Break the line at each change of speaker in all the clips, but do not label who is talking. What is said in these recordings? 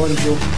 Poġġu.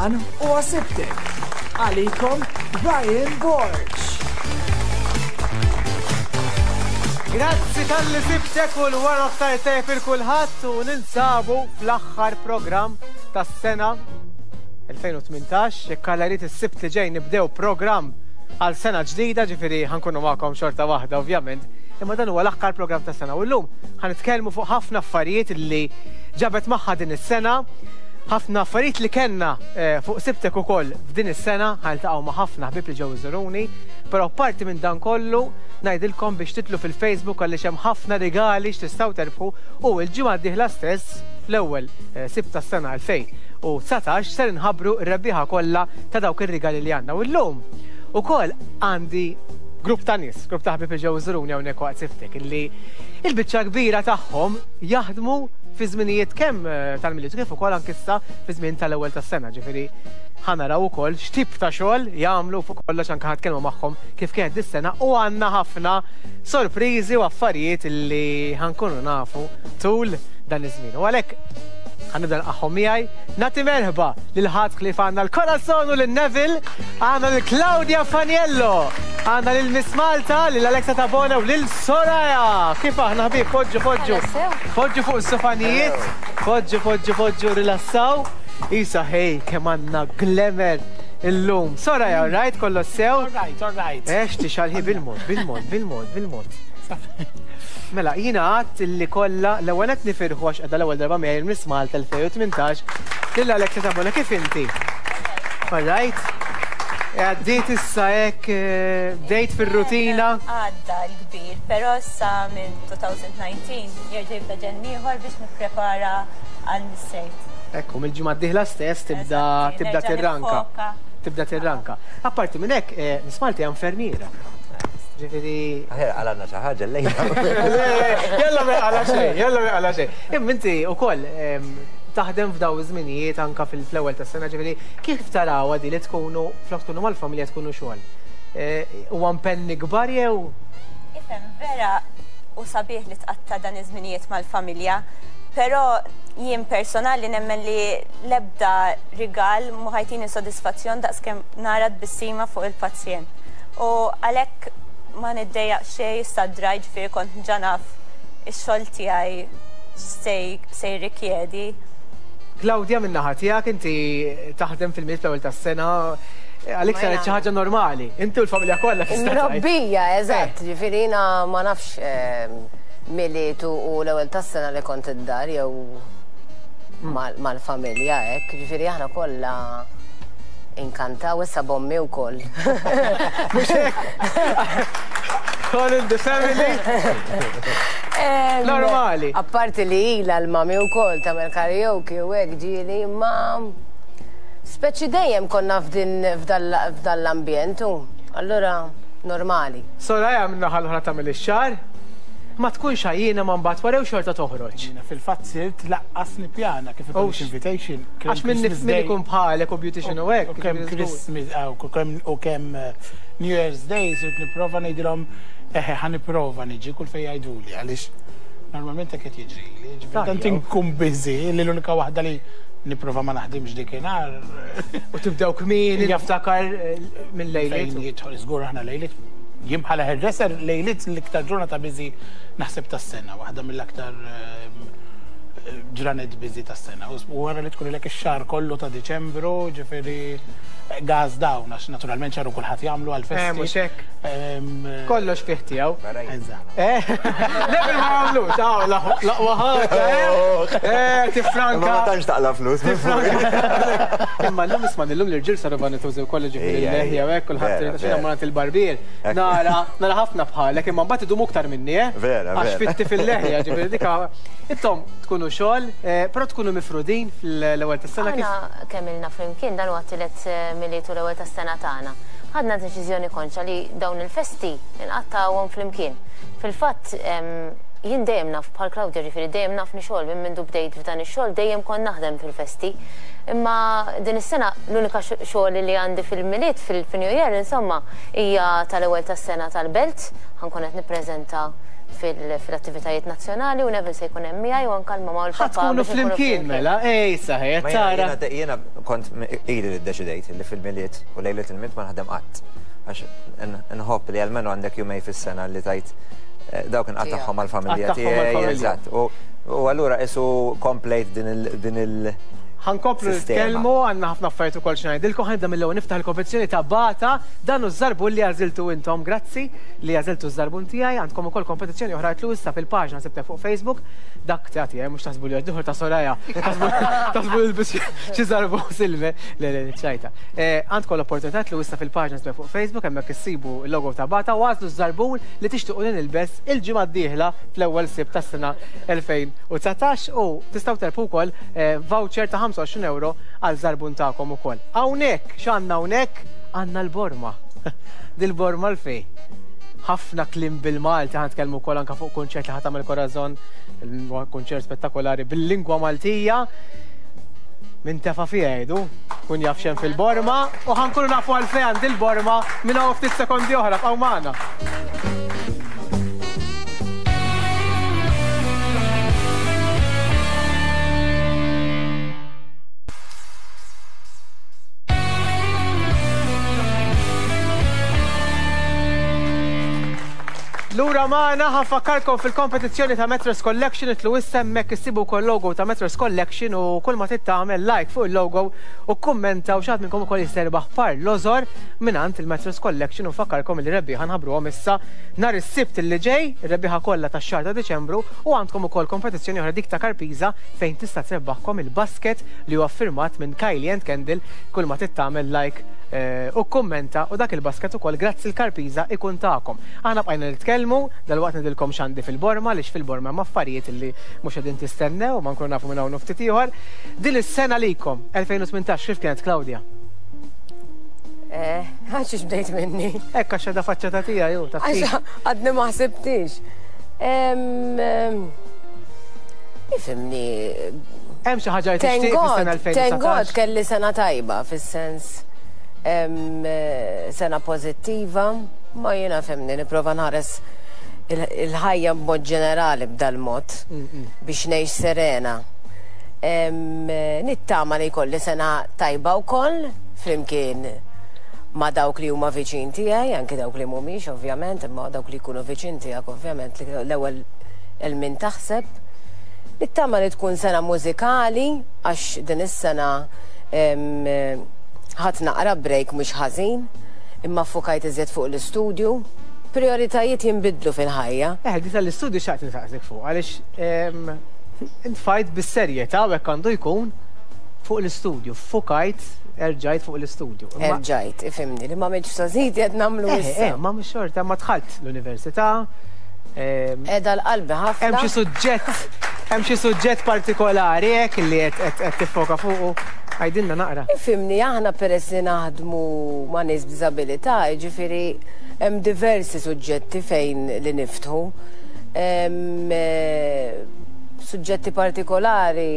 Dan huwa Sibtek. Għalikom Ryan Borg.
Grazzi talli sibtek u l-wara ftar tajjeb il kulħadd u ninsabu fl-aħħar programm tas-sena 2018. Jekk Alla jrid is-Sibt li ġej nibdew programm għal sena ġdida, ġifieri ħankunu magħkom xorta waħda ovvjament, imma dan huwa l-aħħar programm tas-sena u llum ħanitkellmu fuq ħafna affarijiet li ġabet magħha din is-sena, ħafna affarijiet li kellna eh, fuq Sibtek ukoll f'din is-sena, ħaniltaqgħu ma' ħafna ħbieb li ġew iżuruni, però parti minn dan kollu ngħidilkom biex titlu fil-Facebook għaliex hemm ħafna rigali x'tistgħu terbħu u l-ġimgħa d-dieħla stess fl-ewwel eh, Sibt tas-sena 2019 ser inħabbru r-rebbieħa kollha ta' dawk ir-rigali li għandna. U llum ukoll għandi grupp ta' nies, grupp ta' ħbieb li ġew iżuruni hawnhekk waqt Sibtek illi il-biċċa kbira tagħhom jaħdmu fi żminijiet kemm eh, tal-Milied kif ukoll anke issa fi żmien tal-ewwel tas-sena, ġifieri ħa naraw ukoll x'tip ta' xogħol jagħmlu fuq kollox anke ħa nitkellmu magħhom kif kienet dis-sena u għandna ħafna sorpriżi u affarijiet li ħa nkunu nafu tul dan iż-żmien. U għalhekk ħa nibda nilqagħhom miegħi. Nagħti merħba lil ħadd ħlief għandna l-Corazon u lil Neville, għandna lil Claudia Faniello, għandna lil Miss Malta, lil Alexa Tabona u lil Soraya. Kif aħna ħbieb? Poġġu, poġġu. Poġġu fuq is-sofanijiet. Poġġu, poġġu, poġġu, rilassaw. Isa, hej, kemm għandna glamour illum. Soraya, all right, kollox sew?
All right, all right.
Ex, tixalħi bil-mod, bil-mod, bil-mod, bil-mod. Mela, jina għadt li kollha l-ewwel qed nifirħu għax qiegħda l-ewwel darba miegħi il-Miss Malta 2018 lil Alexia Tabona kif inti? All right? Għaddiet issa hekk eh, bdejt fir-rutina.
Għadda l-kbir, però issa minn 2019 jerġa' jibda ġenn ieħor biex nipprepara għal Miss
Ekku, mill-ġimgħa d-dieħla stess tibda tibda tirranka. Tibda tirranka. Apparti minn hekk, eh, Miss Malta hija infermiera. Ġifieri.
Aħjar qalgħalna xi ħaġa llejla.
Jalla ma jqala xejn, jalla ma jqala xejn. Imma inti wkoll taħdem f'daw iż-żminijiet anka fil-ewwel tas-sena, ġifieri kif tarawha di li tkunu flok tkunu mal-familja tkunu xogħol? Eh, huwa impenn ikbar jew?
Ifhem, vera u sabiħ li tqatta' dan iż-żminijiet mal-familja, però jien personali nemmen li l-ebda rigal mhu ħa jtini sodisfazzjon daqskemm nara tbissima fuq il-pazjent. U għalhekk ma niddejjaq xejn issa drajt ġifieri kont ġa naf ix-xogħol tiegħi x'se se jirrikjedi.
Claudia min-naħa tiegħek inti taħdem fil-Milied fl-ewwel tas-sena, għalik saret xi ħaġa normali. Inti u l-familja kollha tista' tgħid.
Mrobbija, eżatt, ġifieri jiena ma nafx Milied u l-ewwel tas-sena li kont id-dar jew mal-familja hekk, ġifieri aħna kollha inkantaw issa b'ommi wkoll.
Mhux hekk? All in the family. Normali.
Apparti li ilha l-mami wkoll tagħmel karaoke u hekk ġieli, imma speċi dejjem konna f'din f'dan l-ambjent u allura normali.
Soraya min-naħa l-oħra tagħmel ix-xagħar. Ma tkunx għajjiena ma mbagħad wara jew xorta toħroġ?
Jiena fil-fatt sirt laqqas nippjana kif ikollix invitation.
Għax min min ikun bħalek u beautician u hekk.
U kemm Christmas u kemm New Year's Day sirt nipprova ngħidilhom eħe ħa nipprova niġi kull fejn jgħiduli għaliex normalment hekk qed jiġrili. Ġifieri tant inkun busy li l-unika waħda li nipprova ma naħdimx dikinhar.
U tibdew kmieni niftakar minn lejliet.
Fejn jidħol żgur aħna lejliet. Jien bħala hairdresser lejliet l-iktar ġurnata busy naħseb tas-sena, waħda mill-aktar ehm, ġranet busy tas-sena. U wara li tkun ilek ix-xahar kollu ta' Diċembru, ġifieri gas down, għax naturalment xahar u kulħadd jagħmlu għall-festi.
Eh, mhux hekk. Kollox fih tiegħu.
Eżatt.
Eh, Level ma jagħmlux, aw, l-aqwa ħaġa, eh. Eh, tifranka.
Ma tantx taqla' flus.
Tifranka. Imma llum isma' illum l-irġiel saru vanitużi wkoll ġifieri l-leħja u hekk kulħadd irid għax jiena il-barbier. Nara, nara ħafna bħalek imma mbagħad idumu iktar minni, eh.
Vera, vera.
Għax fitti fil-leħja, ġifieri dika. Intom tkunu xogħol, però tkunu mifrudin fl-ewwel tas-sena kif?
Aħna kemm ilna flimkien, dan huwa t-tielet Milied u l-ewwel tas-sena tagħna. Ħadna deċiżjoni konxja li dawn il-festi nqattgħuhom flimkien. Fil-fatt, jien dejjem naf bħal Claudia ġifieri dejjem nafni xogħol minn mindu bdejt f'dan ix-xogħol dejjem kont naħdem fil-festi. Imma din is-sena l-unika xogħol li għandi fil-Milied, fil-New Year insomma, hija tal-ewwel tas-sena tal-Belt, ħa nkun qed nippreżenta fil-attivitajiet nazzjonali u Neville se jkun hemm miegħi u anke l-mamà u l-papà.
Ħa tkunu flimkien mela, ej saħi, qed tara.
Jiena kont ili li ddeċidejt li fil-Milied u lejliet il-Milied ma naħdem qatt. Għax nħobb li almenu għandek jumej fis-sena li tgħid dawk inqattagħhom mal-familja tiegħi. Eżatt. U allura qisu komplejt din il-
Ħa nkomplu nitkellmu, għandna ħafna affarijiet ukoll xi ngħidilkom, ħa nibda mill-ewwel niftaħ il-kompetizzjoni ta' Bata, dan hu ż-żarbun li għażiltu intom, grazzi li għażiltu ż-żarbun tiegħi, għandkom ukoll kompetizzjoni oħra itlu issa fil-paġna sibtek fuq Facebook, dak ta' tiegħi mhux taħsbu li għax ta' Soraya, taħsbu li lbis xi żarbun silver, le le ċajta. Għandkom l-opportunità itlu issa fil-paġna sibtek fuq Facebook, hemmhekk issibu l-logo ta' Bata u għażlu ż-żarbun li tixtiequ li nilbes il-ġimgħa d-dieħla fl-ewwel Sibt tas-sena 2019 u tistgħu terbħu wkoll voucher ta' 25 ewro għal żarbun tagħkom ukoll. Hawnhekk, x'għandna hawnhekk? Għandna l-borma. Dil-borma l-fej. Ħafna kliem bil-Malti, ħa nitkellmu wkoll anke fuq kunċert li ħa tagħmel Corazon, kunċert spettakolari bil-lingwa Maltija. Min tefa' fiha jgħidu, kun jaf x'hemm fil-borma u ħa nkunu nafu għalfejn għand il-borma minn hawn ftit sekondi oħra, bqgħu magħna. Lura magħna ħa nfakkarkom fil-kompetizzjoni ta' Metros Collection itlu issa hemmhekk issibu wkoll logo ta' Metros Collection u kull ma trid tagħmel like fuq il-logo u kkummenta u xi ħadd minnkom ukoll jista' jirbaħ par lożor mingħand il-Metros Collection u nfakkarkom li rebbieħa nħabbruhom issa nhar is-Sibt li ġej, ir-rebbieħa kollha tax-xahar ta' Diċembru u għandkom ukoll kompetizzjoni oħra dik ta' Karpiża fejn tista' trebbaħkom il-basket li huwa ffirmat minn Kylie and Kendall kull ma trid tagħmel like u kkummenta u dak il-basket ukoll grazzi l-Karpiża ikun tagħkom. Aħna bqajna nitkellmu, dalwaqt ngħidilkom x'għandi fil-borma għaliex fil-borma hemm affarijiet li mhux qegħdin tistennew ma nkunu nafu minn hawn u ftit ieħor. Din is-sena likom, 2018 kif kienet Claudia?
Eh, għax bdejt minni.
Hekk għax għadha faċċata tiegħi hu ta'
Għax għadni ma ħsibtix. Ifimni.
Hemm xi ħaġa li tixtieq fis-sena 2019.
Thank God kelli sena tajba fis-sens sena pożittiva, ma jiena fimni nipprova nħares il-ħajja b'mod ġenerali b'dal-mod biex ngħix serena. Nittama li jkolli sena tajba wkoll flimkien ma' dawk li huma viċin tiegħi, anki dawk li mhumiex ovvjament, imma dawk li jkunu viċin tiegħek ovvjament li l-ewwel 'il min taħseb. Nittama li tkun sena mużikali għax din is-sena ħadt naqra break mhux ħażin, imma ffukajt iżjed fuq l-istudju. Prijoritajiet jinbidlu fil-ħajja.
Eh, di tal-istudju xtaqt nistaqsik fuq għaliex intfajt bis-serjetà u hekk għandu jkun fuq l-istudju, ffukajt, erġajt fuq l-istudju.
Erġajt, ifhimni, li m'għamiltx f'sogħżiti qed nagħmlu issa.
Eh, ma mhux xorta, ma dħalt l-università.
Qiegħda għal qalbi ħafna.
Hemm xi suġġett, hemm xi suġġett partikolari hekk li qed tiffoka fuqu? Għidilna naqra.
Ifhimni, aħna peress li naħdmu ma' nies b'diżabilità, jiġifieri hemm diversi suġġetti fejn li niftħu. Suġġetti partikolari,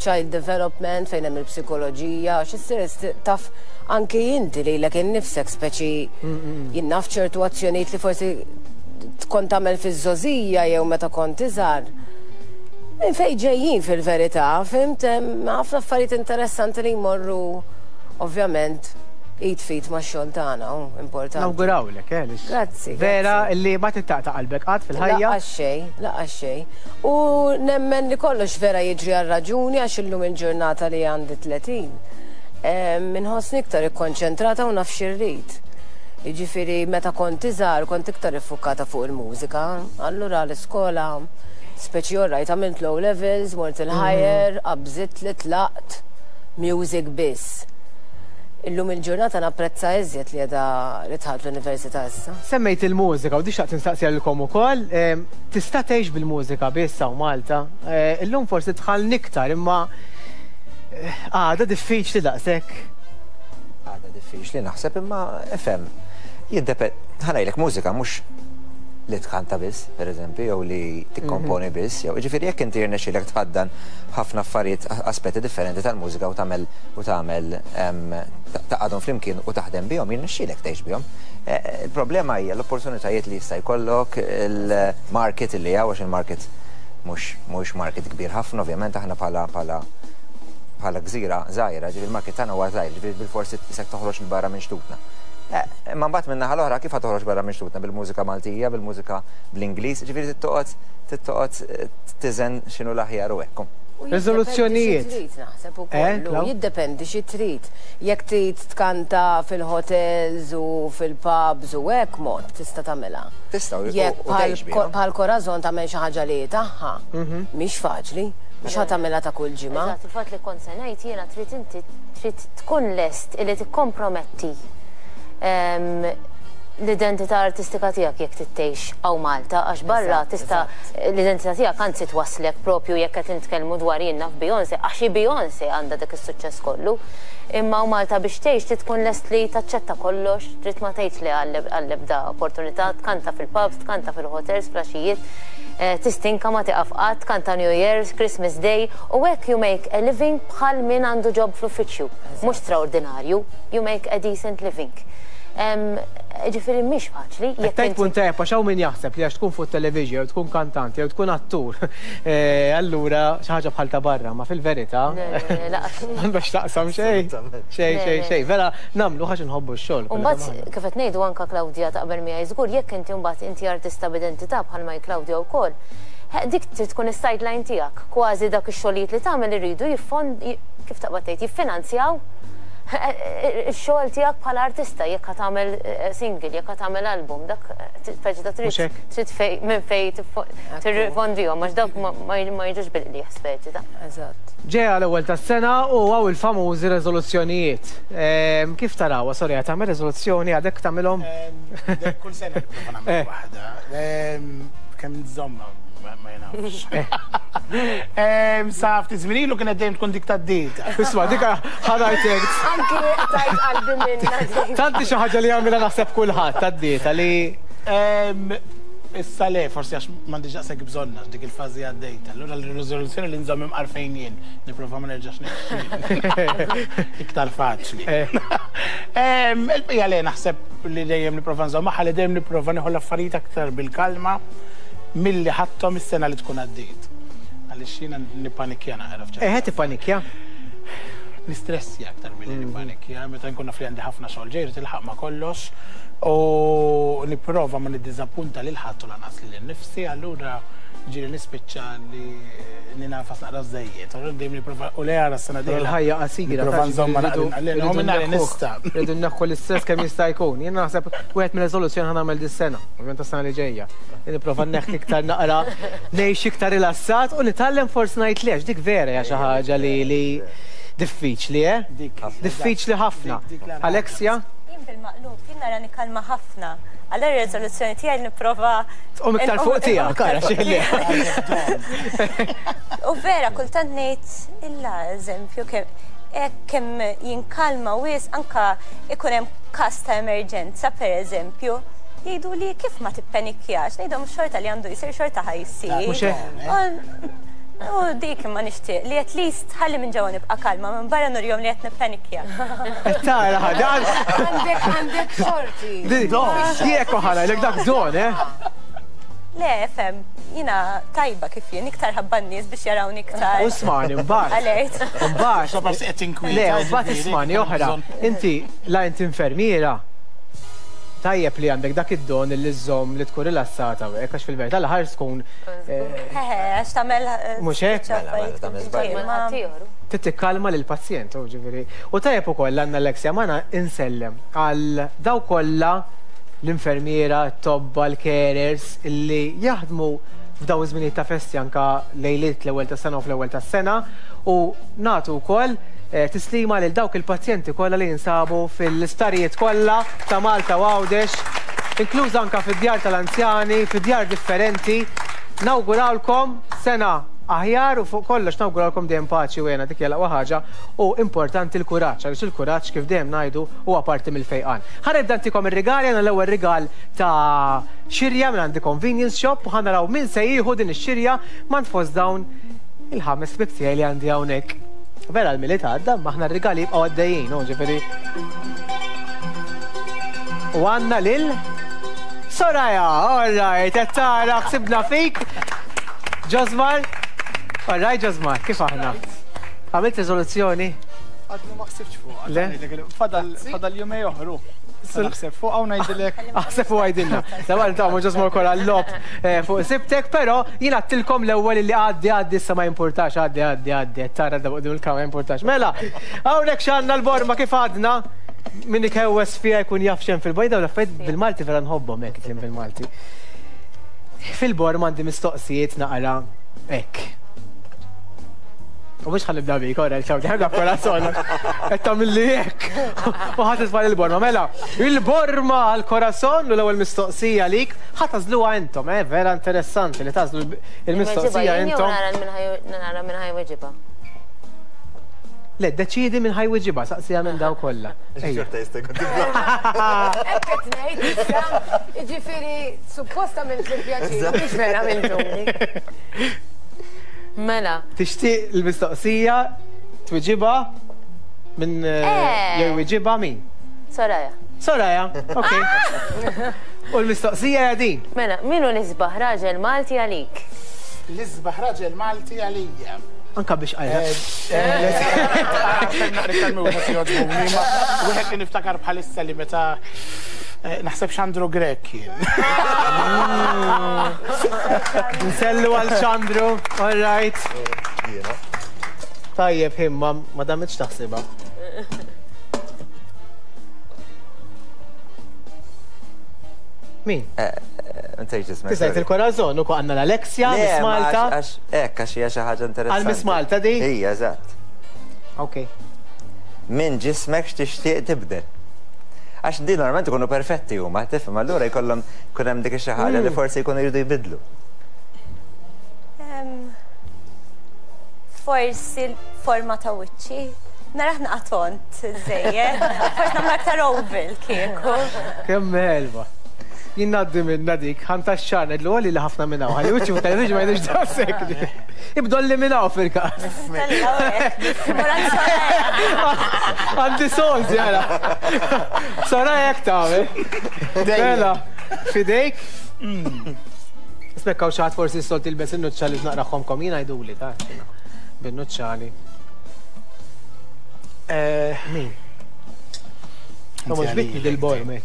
child development fejn hemm il-psikoloġija, għax issir taf anki inti lilek innifsek speċi jien naf ċertu azzjonijiet li forsi kont tagħmel fiż-żgħożija jew meta kont iżgħar. Minn fejn ġejjin fil-verità, fhimt, hemm ħafna affarijiet interessanti li jmorru ovvjament id f'id max-xogħol tagħna, hu importanti.
Nawgurawlek, eh, għaliex.
Grazzi.
Vera li ma tittaqta' qalbek qatt fil-ħajja.
Laqqas xejn, laqqas xejn. U nemmen li kollox vera jiġri għal raġuni għax illum il-ġurnata li għandi 30. Inħossni iktar ikkonċentrata u naf xi rrid. Jiġifieri meta kont iżgħar kont iktar iffukata fuq il-mużika, allura l-iskola speċi orrajt għamilt l-O levels, mort il-higher, qabżitli, tlaqt, music biss. Illum il-ġurnata napprezza iżjed li qiegħda li dħalt l-università issa.
Semmejt il-mużika u di xtaqt nistaqsiha lilkom ukoll. Tista' tgħix bil-mużika biss hawn Malta? Illum forsi dħalna iktar imma għadha diffiċli daqshekk.
Għadha diffiċli naħseb imma ifhem jiddependi, ħa ngħidlek mużika mhux li tkanta biss, per eżempju, jew li tikkomponi biss, jew jiġifieri jekk inti jirnexxielek tħaddan ħafna affarijiet, aspetti differenti tal-mużika u tagħmel u tagħmel tgħaqqadhom flimkien u taħdem bihom, jirnexxielek tgħix bihom. Il-problema hija l-opportunitajiet li jista' jkollok, il-market li hawn, għax il-market mhux mhuwiex market kbir ħafna, ovvjament aħna bħala bħala bħala gżira żgħira, ġifieri il-market tagħna huwa żgħir, ġifieri bilforsi isek toħroġ 'il barra minn xtutna. Imma mbagħad min-naħa l-oħra kif ħa toħroġ barra minn xtutna bil-mużika Maltija, bil-mużika bl-Ingliż, ġifieri trid toqgħod trid toqgħod tiżen x'inhu l-aħjar u hekk.
U jiddependi xi
Riżoluzzjonijiet.
trid naħseb
Eh,
ukoll, u
Klaw?
jiddependi xi trid. Jekk trid tkanta fil-hotels u fil-pubs u hekk mod tista' tagħmilha.
Tista' u
Jekk
u
bħal
tgħix bihom.
bħal Corazon tagħmel xi ħaġa li hi tagħha, mhix faċli, mhux ħa tagħmilha ta' kull ġimgħa.
Eżatt, il-fatt li kont se ngħid jiena trid inti trid tkun lest illi tikkomprometti l-identità artistika tiegħek jekk trid tgħix hawn Malta għax barra tista' l-identità tiegħek anzi twasslek propju jekk qed nitkellmu dwar jien naf Beyoncé għax hi Beyoncé għandha dak is-suċċess kollu. Imma hawn Malta biex tgħix trid tkun lest li taċċetta kollox, trid ma tgħidx le għall-ebda opportunità, tkanta fil-pubs, tkanta fil-hotels, fl-għaxijiet, tistinka ma tieqaf qatt, tkanta New Year's, Christmas Day u hekk you make a living bħal min għandu job fl-uffiċċju. Mhux straordinarju, you make a decent living. Ġifieri mhix faċli.
Qed tgħid punt tajjeb għax hawn min jaħseb li għax tkun fuq it-television jew tkun kantant jew tkun attur, allura xi ħaġa bħal ta' barra, ma fil-verità m'għandha x'taqsam xejn. Xejn, xejn, xejn. Vera nagħmluh għax inħobbu x-xogħol.
U mbagħad kif qed ngħidu anke Claudia taqbel miegħi żgur jekk inti mbagħad inti artista b'identità bħalma hi Claudia wkoll, dik trid tkun is-sideline tiegħek. Kważi dak ix-xogħlijiet li tagħmel iridu jiffond kif taqbad tgħid jiffinanzjaw ix-xogħol tiegħek bħala artista jekk ħa tagħmel single, jekk ħa tagħmel album, dak speċi ta' trid trid fej minn fej tirrifondihom għax dawk ma jiġux bil-qligħ speċi ta'.
Eżatt.
Ġejja l-ewwel tas-sena u hawn il-famużi reżoluzzjonijiet. Kif tarawha, sorry, qed tagħmel reżoluzzjoni għadek tagħmilhom?
Kull sena nipprova nagħmel waħda. Kemm nżommha ma nafx. Sa ftit żmien ilu kienet dejjem tkun dik tad-dieta.
Isma' dik ħa ngħidlek.
Anki tajt qalbi minnha dik.
Tant hi xi ħaġa li jagħmilha naħseb kulħadd tad-dieta li.
Issa le, forsi għax m'għandix daqshekk bżonn għax dik il-fażi għaddejt. Allura l-riżoluzzjoni li nżomm imqar fejn jien, nipprova ma nerġax ngħix. Iktar faċli. Il-bqija le naħseb li dejjem nipprova nżomm magħha li dejjem nipprova nieħu l-affarijiet aktar bil-kalma milli ħadthom is-sena li tkun għaddiet. Għaliex jiena nippanikja naqra f'ċerti.
Eħe tippanikja?
Nistressja aktar milli nippanikja, meta nkun naf li għandi ħafna xogħol ġej irrid ilħaq ma' kollox u nipprova ma niddiżappunta lil ħadd u lanqas lili nnifsi, allura ġieli nispiċċa li ninafas naqra żejjed. Allura dejjem nipprova u le ara s-sena dieħla.
Il-ħajja qasira.
Nipprova nżommha naqra li nista'.
Rridu nneħħu l-istress kemm jista' jkun. Jien naħseb wieħed mir-reżoluzzjoni ħa nagħmel dis-sena, ovvjament tas-sena li ġejja. Li nipprova nneħħi iktar naqra ngħix iktar rilassat u nitgħallem forsi ngħid le għax dik vera hija xi ħaġa li li diffiċli, eh? Diffiċli ħafna. Alexia?
Jien bil-maqlub, jien nara nikalma ħafna. Allura r-reżoluzzjoni tiegħi nipprova.
Tqum iktar fuq tiegħek, ara x'illi.
U vera kultant ngħid illa eżempju kemm hekk kemm jinkalma wisq anka ikun hemm każ ta' emerġenza pereżempju, jgħidu li kif ma tippenikjax, ngħidhom xorta li għandu jsir xorta ħa jsir.
Mhux hekk?
U dik imma nixtieq li at least ħalli minn ġewwa nibqa' kalma, minn barra nurihom li qed nippenikja.
Qed tara ħaġa.
Għandek għandek xorti.
Jekk ħa ngħidlek dak don, eh?
Le, fem, jiena tajba kif jien, iktar ħabba n-nies biex jarawni iktar.
U smani, mbagħad.
Alert.
Mbagħad. Le, mbagħad ismani oħra. Inti la inti infermiera. Tajjeb li għandek dak id-don li żżomm li tkun rilassata u hekk għax fil-verità l-aħħar tkun.
Eħe, għax tagħmel.
Mhux hekk?
Mela, mela, tagħmel żball.
Trid tikkalma lill-pazjent, u ġifieri. U tajjeb ukoll għandna Alexia magħna insellem għal dawk kollha l-infermiera, t-tobba, l-carers illi jaħdmu f'dawn iż-żminijiet ta' festi anke lejliet l-ewwel tas-sena u fl-ewwel tas-sena u nagħtu wkoll tislima lil dawk il-pazjenti kollha li jinsabu fil-isptarijiet kollha ta' Malta u Għawdex, inkluż anke fid-djar tal-anzjani, fi djar differenti. Nawgurawlkom sena aħjar u fuq kollox nawgurawlkom dejjem paċi u hena, dik hija l-aqwa ħaġa u importanti l-kuraġġ għaliex il-kuraġġ kif dejjem ngħidu huwa parti mill-fejqan. Ħa nibda ntikom ir-rigali, għandna l-ewwel rigal ta' xirja minn The Convenience Shop u ħa naraw min se jieħu din ix-xirja m'għand fost dawn il-ħames ħbieb tiegħi li għandi hawnhekk. Vera l-Milied għadda, imma aħna r-rigali jibqgħu għaddejjin, hu ġifieri. U għandna lil Soraya, all right, qed tara ħsibna fik. Ġosmar, all right Ġosmar, kif aħna? Għamilt riżoluzzjoni?
Għadni ma ħsibx fuq.
Le?
Fadal fadal jumej oħru. Naħseb fuq hawn ngħidilek.
Aħseb u għajdilna. Dabba nitgħamu Ġosmar ukoll għall-logħob eh, fuq sibtek, però jien għattilkom l-ewwel li għaddi għaddi issa ma jimpurtax, għaddi għaddi għaddi, qed tara da quddiem il-kamera ma jimpurtax. Mela, hawnhekk x'għandna l-borma kif għadna min ikewwes fiha jkun jaf x'hemm fil-borma, dawn l-affarijiet bil-Malti vera nħobbhom hekk kliem bil-Malti. Fil-borma għandi mistoqsijiet naqra hekk. U mhux ħa nibda bik, ora Claudia, ħa nibda b'Corazon. Qed tagħmilli hekk. U ħa titfa' il-borma. Mela, il-borma għal Corazon u l-ewwel mistoqsija lik ħa tagħżluha intom, eh, vera interessanti li tagħżlu il-mistoqsija intom.
Nara minn ħa jweġibha.
Le, deċidi minn ħa jweġibha, saqsija minn daw kollha.
Xorta jista' jkun tibla.
Hekk qed ngħid issa, jiġifieri suppost għamilt il-pjaċir, mhux vera għamiltuli.
Mela.
Tixtieq il-mistoqsija twiġibha minn eh, jew jwiġibha min?
Soraya.
Soraya, ok. U l-mistoqsija hija din.
Mela, min hu l-isbaħ raġel Malti għalik?
L-isbaħ raġel Malti għalija.
Anka biex għajja.
Wieħed li niftakar bħalissa li meta eh, naħseb Xandru Grek kien.
Nsellu għal Xandru, all right. Tajjeb, him, ma damitx taħsibha. Min?
Eh, eh, Nsejt ismek.
Tisajt il-Corazon, u għandna l-Alexia, Miss Malta.
Għax, hekk, għax hija xi ħaġa interessanti.
Għal Miss Malta di?
Hija, eżatt.
Ok.
Min ġismek x'tixtieq tibdel? Għax din normalment ikunu perfetti huma, tifhem, allura jkollhom kun hemm dik xi ħaġa li mm. forsi jkunu jridu jbidlu.
Forsi l-forma ta' wiċċi. Naraħ naqatont żejjed. Forsi nagħmel aktar oval kieku.
Kemm helva. Jien ngħaddi minna dik, ħan tax-xahar ngħidlu għalli li ħafna minn hawn, ħalli wiċċi fuq television ma jgħidux daqshekk. Ibdolli minn hawn fil-każ. Għandi soldi għala. Sara hekk tagħmel. Mela, fidejk. Mm. Spekkaw xi ħadd forsi s-solti l-bes in-nuċċali naqraħħomkom jien għiduli ta' bin-nuċċali. Eh, min? Ma mhux bitni dil-bormi.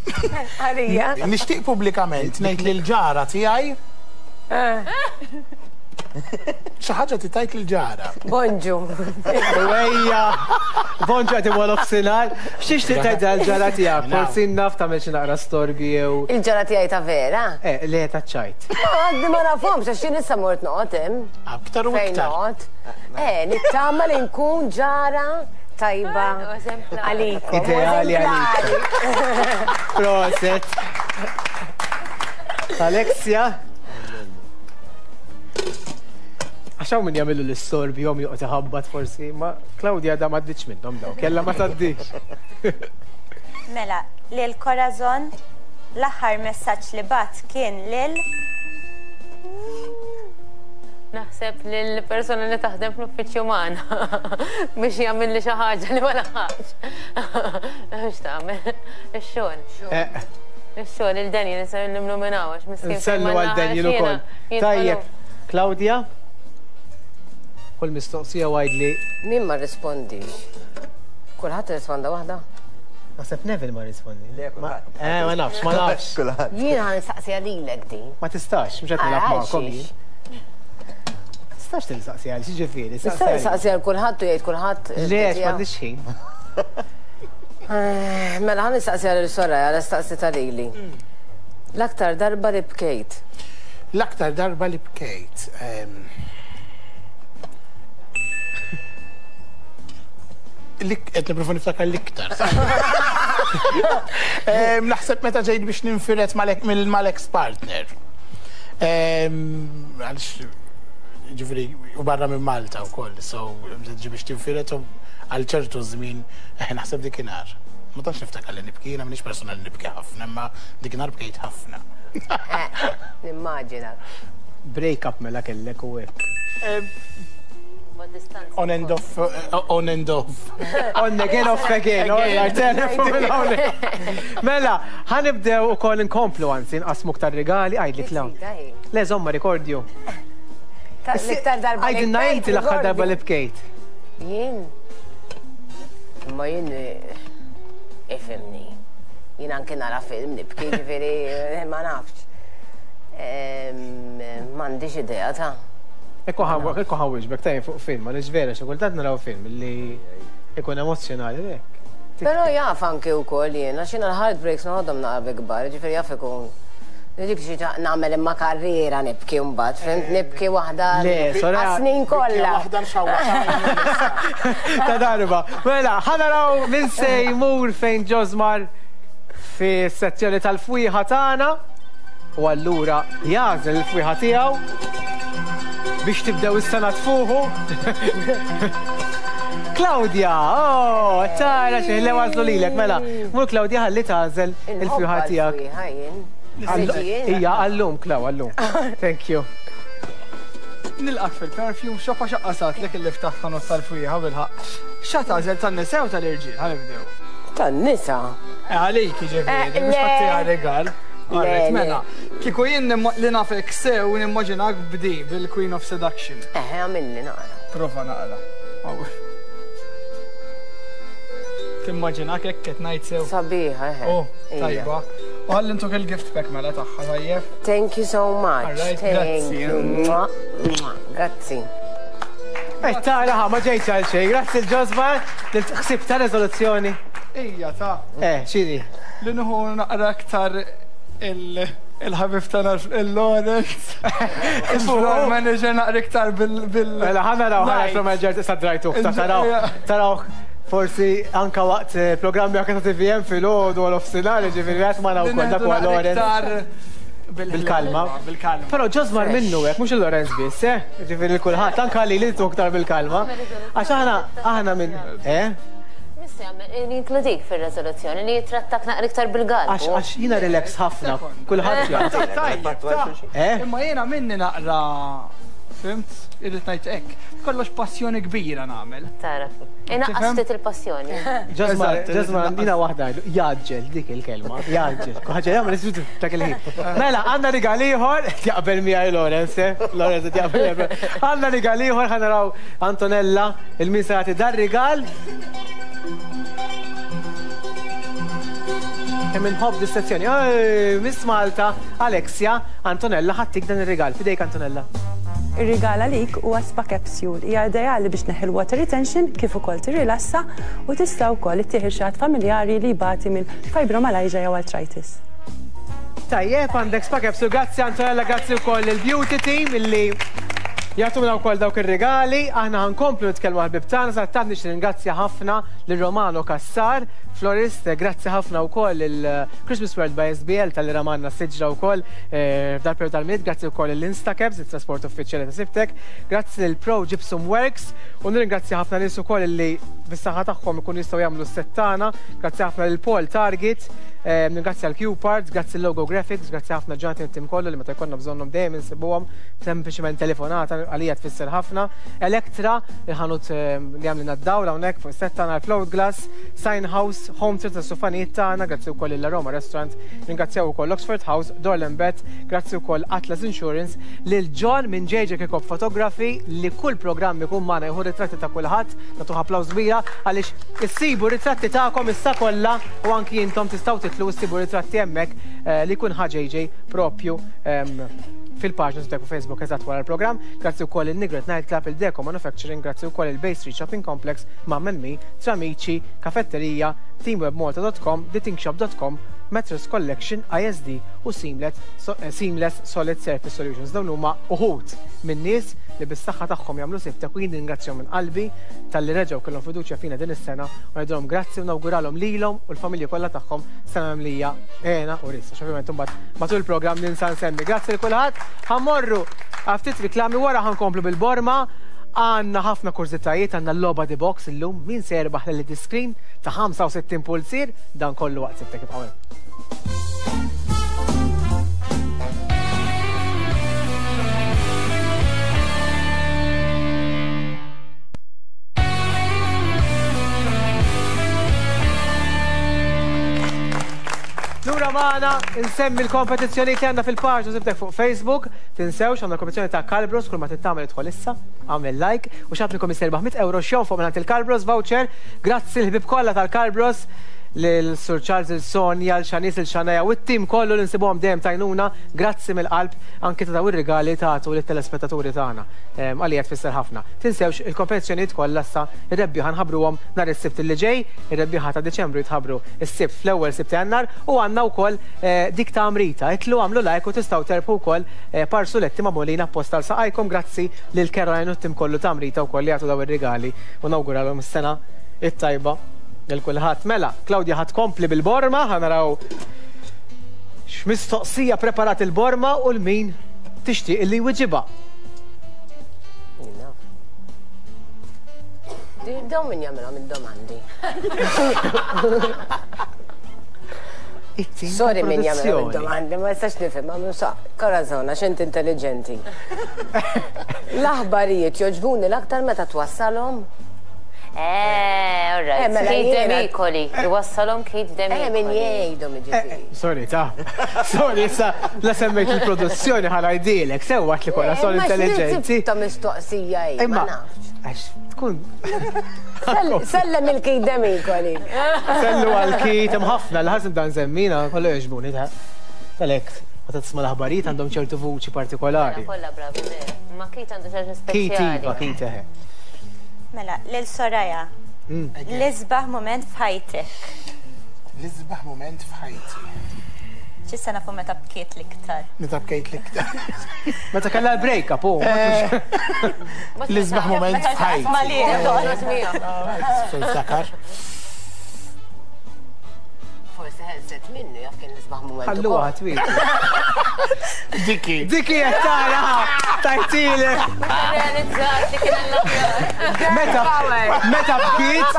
Għalija.
Nixtieq pubblikament ngħid lil ġara tiegħi. Eh. Xi ħaġa titajt lil ġara.
Bonġu.
Ejja. Bonġu qed imur nofsinhar. X'tixtieq tgħid għall-ġara tiegħek? Forsi naf tagħmel xi naqra storbi jew.
Il-ġara tiegħi ta' vera?
Eh, le ta' ċajt.
Ma għadni ma nafhomx għax jien issa mort noqgħod hemm.
Aktar u iktar.
Eh, nittama li nkun ġara tajba għalikom.
Ideali għalik. Proset. Alexia. Għax hawn min jagħmillu l-istorbi jom joqgħod iħabbat forsi, ma Claudia da ma ddiċ minnhom dawk, kella ma tgħaddix.
Mela, lil Corazon l-aħħar messaġġ li bat kien lil
Naħseb lil persuna li taħdem fl-uffiċċju magħna biex jagħmilli xi ħaġa li ma laħaqx. X'tagħmel? Ix-xogħol.
Eh.
Ix-xogħol il Daniel nsellimlu minn hawn għax miskin.
Nsellu għal Daniel ukoll. Tajjeb, Claudia? Kull mistoqsija għajdli.
Min ma rrispondix? Kulħadd irrisponda waħda?
Naħseb Neville ma rrispondi.
Le, kulħadd.
Eh, ma nafx, ma nafx.
Kulħadd.
Jien ħa nistaqsiha lilek din.
Ma tistax, mhux qed nilgħab magħkom jien. Tistax tistaqsi għal xi ġifieri.
Nista' nistaqsi għal kulħadd u jgħid kulħadd.
Le, m'għandix ħin.
Mela ħa nistaqsi għal Soraya, għal staqsi ta' lili. L-aktar darba li bkejt.
L-aktar darba li bkejt. Qed nipprova niftakar l-iktar. Naħseb meta ġejt biex ninfired mal-ex partner. Għaliex ġifieri u barra minn Malta wkoll, so ġi biex tinfired u għal ċertu żmien eh, naħseb dikinhar. Ma tantx niftakar li nibki, jiena m'iniex persuna li nibki ħafna, imma dikinhar bkejt ħafna.
Nimmaġina.
Break up mela kellek u hekk.
On and off, on and off.
On again, off again, all right, telefon hawnhekk. Mela, ħa nibdew ukoll inkomplu anzi nqassmu aktar rigali, għidli Klaw. Le, żomma rikordju.
L-iktar darba li
Għidilna
bkejt,
inti l-aħħar darba li bkejt.
Jien? Imma jien ifhimni. Jien anke nara film nibki, ġifieri ma nafx. M'għandix idea ta'.
Ekku ħawwiġbek tajjeb fuq film, għaliex vera xi kultant naraw film li ikun emozzjonali hekk.
Però jaf anke wkoll jien, għax jiena l-heartbreaks noħodhom naqra bi kbar, ġifieri jaf ikun. Dik xi nagħmel imma karriera nibki mbagħad, fhimt? Nibki waħda għas-snin kollha.
Waħda nxawwa.
Ta' darba. Mela, ħa naraw min se jmur fejn Ġosmar fis-sezzjoni tal-fwieħa tagħna u allura jagħżel il-fwieħa tiegħu biex tibdew is-sena tfuħu. Claudia, oh, tara xi ħlew għażlu lilek, mela. Mur Claudia ħalli tagħżel il-fwieħa tiegħek. Ija, għallum, Klaw, għallum. Thank you.
Nilqak fil-perfume shop għax aqqasatlek illi ftaħt ħanut tal-fwieħa bilħaqq. X'ha tagħżel tan-nisa jew tal-irġiel? Ħa nibdew.
Tan-nisa.
Eh, għalik jiġifieri, mhux ħadd rigal. Alright, mela. Kieku jien li nafek sew nimmaġinak b'di bil-Queen of Seduction.
Eħe, għamilli naqra.
Prova naqra. Timmaġinak hekk qed ngħid sew.
Sabiħa, eħe.
Oh, tajba. U ħalli ntuk il-gift pack mela tagħha tajjeb.
Thank you so much.
Alright,
Thank
grazzi.
you. Mwah, mwah. Grazzi.
Eh, tara, ħa, ma ġejtx għal xejn. Grazzi l-Ġosmar, ħsib ta' rezoluzzjoni.
Ija ta'
Eh, x'inhi?
li nieħu naqra aktar il-ħabib tagħna il-Lawrence. Il-floor manager naqra iktar bil bil.
Mela, ħa naraw, ħa
Light.
naraw manager tista' drajtuh, ta' taraw, taraw forsi anka waqt programmi anka ta' TVM fil-ħodu għal offsinar, ġifieri għat ma naraw kol dak huwa Lawrence. Bil-kalma.
Bil-kalma.
Però Ġosmar minnu hekk, mhux il-Lorenz biss, eh? Ġifieri l-kulħadd, anka li li iktar bil-kalma. Għax aħna aħna minn, eh?
Missi jagħmel jinkludik fir-reżoluzzjoni li jitrattak naqra iktar bil-galbu.
Għax għax jiena relax ħafna, kulħadd jaf.
Tajjeb, ta'
Eh?
Imma jiena minni naqra, fhimt? Irrid ngħid hekk. Kollox passjoni kbira nagħmel.
Tara. Inaqqas ftit il-passjoni.
Ġosmar,
Eżatt,
Ġosmar,
inaqqas.
dina waħda, jaġġel dik il-kelma, jaġġel. Ħaġa jagħmel isbitu dak il-ħin. Mela, għandna rigal ieħor, jaqbel miegħi Lawrence, eh? Lawrence qed jaqbel miegħi. Għandna rigal ieħor ħa naraw Antonella, il-min se jagħti dar rigal. Kemm inħobb dis-sezzjoni. Ej, Miss Malta, Alexia, Antonella ħattik dan ir-rigal. Fidejk Antonella.
Ir-rigal għalik huwa spa capsule. Hija ideali biex tneħħi l-water retention kif ukoll tirrilassa u tista' wkoll ittieħ xi ħadd familjari li jbati minn fibromyalgia jew arthritis.
Tajjeb, għandek spa capsule. Grazzi Antonella, grazzi wkoll il-beauty team illi jagħtuna wkoll dawk ir-rigali. Aħna ħa nkomplu nitkellmu għall-ħbieb tagħna, sa tant nixtieq ringrazzja ħafna lil Romano Cassar, florist, grazzi ħafna wkoll il-Christmas World by SBL tal-li ramanna s-siġra wkoll f'dal periodu tal-Milied, grazzi wkoll l-Instacabs, il-trasport uffiċjali ta' Sibtek, grazzi lil Pro Gypsum Works u nirringrazzja ħafna nies ukoll li bis-saħħa tagħhom ikunu jistgħu jagħmlu s-set tagħna, grazzi ħafna lil Paul Target, Nirringrazzja l-Q-Parts, grazzi l-Logo Graphics, grazzi ħafna Jonathan it-tim kollu li meta jkollna bżonnhom dejjem insibuhom, sempliċement telefonata għalija tfisser ħafna. Electra, il-ħanut li għamlilna d-dawl hawnhekk fuq is-set tagħna, Float Glass, Sign House, Home Theatre tas-sufanijiet tagħna, grazzi wkoll lil Aroma Restaurant, ringrazzjaw ukoll Oxford House, Dorland Bet, grazzi wkoll Atlas Insurance, lil John minn JJ Kirkop Photography li kull programm ikun magħna jieħu ritratti ta' kulħadd, nagħtuh applaws kbira għaliex issibu ritratti tagħkom issa kollha u anki intom tistgħu titlu u ssibu ritratti hemmhekk eh, li jkun ħa JJ propju ehm, fil-paġna tiegħek fuq Facebook eżatt wara l-programm. Grazzi wkoll il-Nigret Night Club, il-Deco Manufacturing, grazzi wkoll il-Bay Street Shopping Complex, Mamma Me, Tramici, Kafetterija, teamwebmalta.com, thetinkshop.com, Mattress Collection, ISD u Seamless, so, eh, Seamless Solid Surface Solutions. Dawn huma uħud minn nies li bis-saħħa tagħhom jagħmlu siftek u jien ningrazzjahom minn qalbi talli reġgħu kellhom fiduċja fina din is-sena u ngħidulhom grazzi u nawguralhom lilhom u l-familji kollha tagħhom sena mimlija hena u risq. Għax ovvjament imbagħad matul il-programm ninsa nsemmi. Grazzi lil kulħadd. Ħa mmorru għal ftit riklami wara ħa nkomplu bil-borma. Għandna ħafna kurżitajiet, għandna l-logħba The Box illum, min se jerbaħ l-LED screen ta' 65 pulzier, dan kollu waqt sibtek ibqgħu hemm. Lura magħna nsemmi l-kompetizzjoni li għandna fil-paġna sibtek fuq Facebook. Tinsewx għandna kompetizzjoni ta' Calbros kull ma tittamel idħol issa, għamel like u xi ħadd minnkom jista' 100 euro x'jonfoq mingħand il-Calbros voucher. Grazzi l-ħbieb kollha tal-Calbros lil Sur Charles, il Sonja, l Xanis, il Xanaja u t-tim kollu li nsibuhom dejjem tajnuna. Grazzi mill-qalb anki ta' daw ir-rigali tagħtu lit-telespettaturi tagħna. Għalija tfisser ħafna. Tinsewx il-kompetizzjonijiet kollha issa ir-rebbieħa nħabbruhom nhar is-Sibt li ġej, ir-rebbieħa ta' Diċembru jitħabbru s-Sibt fl-ewwel Sibt ta' Jannar u għandna wkoll dik ta' Amrita. Itlu agħmlu like u tistgħu terbħu wkoll par suletti magħmulin apposta għal saqajkom grazzi lil Caroline u t-tim kollu ta' Amrita wkoll li jagħtu dawn ir-rigali u nawguralhom is-sena t-tajba lil kulħadd. Mela, Claudia ħa tkompli bil-borma, ħa naraw x'mistoqsija preparat il-borma u 'l min tixtieq illi jwiġibha.
Dawn min jagħmilhom id-domandi. Sorry min jagħmilhom id-domandi, ma nistax nifhem, ma sa Corazon għax inti intelligenti. L-aħbarijiet jogħġbuni l-aktar meta twassalhom
Eh, all right. Eh, mela Keith Demicoli, iwassalhom Keith Demicoli.
Eh, min jgħidhom jiġifieri.
Eh, sorry, ta. Sorry, issa la semmejt il-produzzjoni ħa ngħidilek, sewwa li kollha sol intelligenti.
Ta' mistoqsija hi, ma nafx.
Għax tkun.
Sellem il-Keith Demicoli.
Sellu għal Keith, hemm ħafna li ħażin dan semmina, kollu jogħġbuni ta. Għalhekk, meta tisma' l-aħbarijiet għandhom ċertu vuċi partikolari.
Mela, kollha bravi vera. Ma Keith għandu xi ħaġa speċjali.
Keith iva, Keith eħe.
Mela, lil Soraya. L-isbaħ mument f'ħajtek.
L-isbaħ mument f'ħajti.
X'issa nafu meta bkiet l-iktar.
Meta bkejt l-iktar.
Meta kellha l-break up, oh.
L-isbaħ mument f'ħajti. Sakar.
Forsi ħelset minnu jaf kien l-isbaħ mument.
Ħalluha twil.
Diki.
Diki qed tara tajtilek.
Realizzat li kien l-aħjar.
Meta meta bkiet,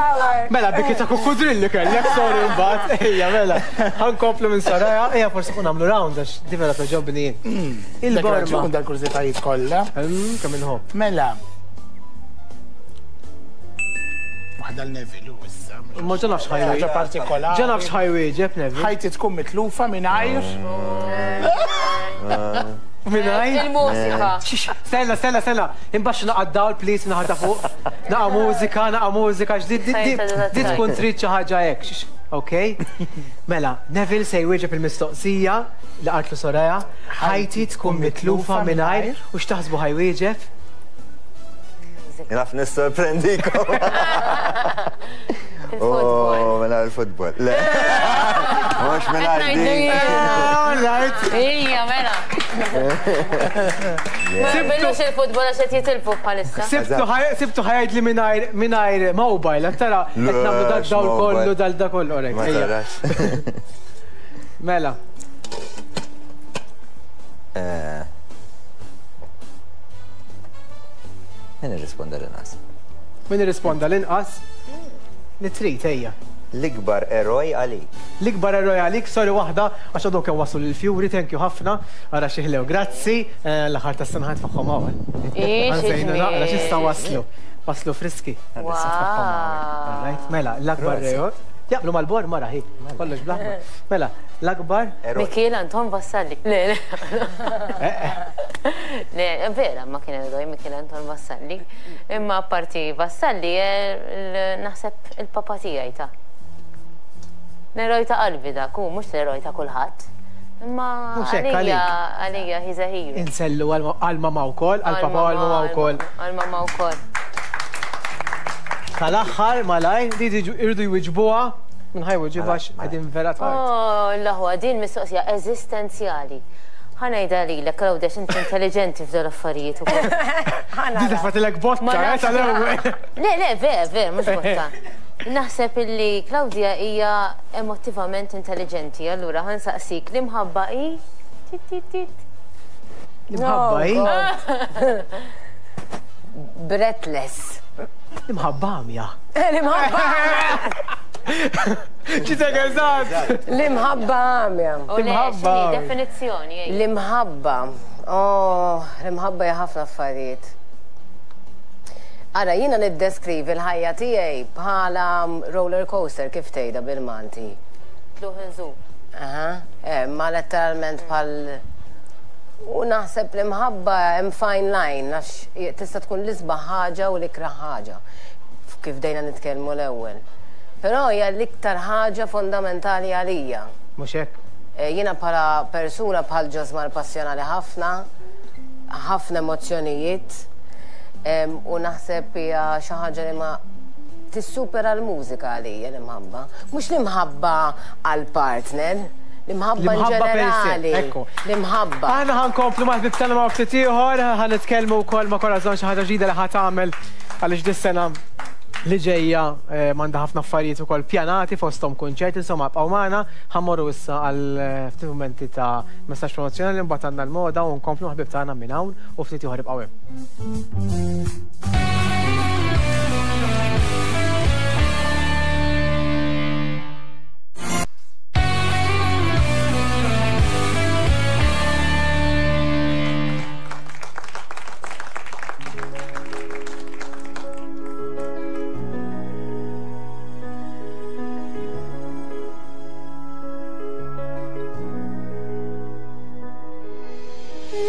mela bkiet ta' kukkudrilli kellek, sorry mbagħad. Ejja mela. Ħankomplu minn Soraya, ejja forsi kun nagħmlu round għax di vera toġobni jien.
Mm.
Il-borma.
Dal-kurżitajiet kollha.
Mm, kemm inħobb.
Mela. Waħda l-Neville u issa.
Ma ġa nafx ħajwi.
Ħaġa partikolari.
Ġa nafx ħajwieġeb Neville.
Ħajti tkun mitlufa mingħajr.
Mingħajr?
Il-mużika.
Stenna, stenna, stenna. Imbaxxu naqa' d-dawl, please, naħa ta' fuq. Naqa' mużika, naqa' mużika, għax di tkun trid xi ħaġa hekk. Ok? Mela, Neville se jwieġeb il-mistoqsija li qaltlu Soraya. Ħajti tkun mitlufa mingħajr u x'taħsbu ħa jwieġeb?
Naf nissorprendikom. Oh, mela l-futbol. Le. Mhux mela din.
All right.
Ija, mela. Billux il-futbol għax qed jitilfu bħalissa.
Sibtu ħajd li mingħajr mingħajr mobile, qed tara qed nagħmlu dak dawl kollu dal da kollu. Mela.
Eh. Min irrisponda l-inqas?
Min irrisponda l-inqas? Li trid, ejja.
L-ikbar eroj għalik.
L-ikbar eroj għalik, sorry waħda, għax għadhom kemm waslu lill-Fjuri, thank you ħafna, ara xi ħlew. Grazzi, l-aħħar tas-sena ħa nitfagħhom hawn.
Ix,
Ħa nżejnu naqra x'issa waslu. Waslu friski.
Wow.
Right, mela, l-akbar eroj. Jaqblu mal-bor mara hi. Kollox bl-aħmar. Mela, l-akbar.
Mikiel Anton Vassalli. Le, le. Le, vera, ma kien eroj Mikiel Anton Vassalli. Imma apparti Vassalli, naħseb il-papa tiegħi ta'. L-eroj ta' qalbi dak, hu mhux l-eroj ta' kulħadd. Imma għalija, għalija he's a hero.
Insellu għal-mama wkoll, għal-papa u għal-mama wkoll.
Għal-mama wkoll.
Tal-aħħar malajr, di irridu jwiġbuha, minn ħa jwiġibha għax qegħdin vera tard.
Oh, l-aħwa, din mistoqsija eżistenzjali. Ħa ngħidha lilek, Claudia, għax inti intelliġenti f'dawn l-affarijiet ukoll.
Di tefatilek botta, eh, tal-ewwel.
Le, le, vera, vera, mhux botta. Naħseb illi Claudia hija emotivament intelliġenti, allura ħa nsaqsik, l-imħabba hi? Tit, tit, tit.
L-imħabba hi?
Breathless.
L-imħabba għamja.
L-imħabba.
Ġitek eżatt.
L-imħabba għamja.
L-imħabba. Definizzjoni.
L-imħabba. Oh, l-imħabba hija ħafna affarijiet. Ara, jiena niddeskrivi l-ħajja tiegħi bħala roller coaster kif tgħidha bil-Malti.
Tluħ inżul.
Aha, eh, ma letteralment bħal U naħseb l-imħabba hemm fine line għax tista' tkun l-isbaħ ħaġa u l-ikrah ħaġa, kif bdejna nitkellmu l-ewwel. Però hija l-iktar ħaġa fondamentali għalija.
Mhux hekk?
Jiena bħala persuna bħal Josmar passjonali ħafna, ħafna emozzjonijiet, u naħseb hija xi ħaġa li ma tissupera l-mużika għalija l-imħabba. Mhux l-imħabba għall-partner, L-imħabba in ġenerali. L-imħabba.
Aħna ħa nkomplu mal-ħbieb tagħna ma' ftit ieħor, ħa nitkellmu wkoll ma' Corazon xi ħaġa ġdida li ħa tagħmel għaliex dis-sena li ġejja m'għandha ħafna affarijiet ukoll pjanati fosthom kunċerti, insomma ibqgħu magħna, ħa mmorru issa għal ftit mumenti ta' messaġġ promozzjonali mbagħad għandna l-moda u nkomplu mal-ħbieb tagħna minn hawn u ftit ieħor ibqgħu hemm.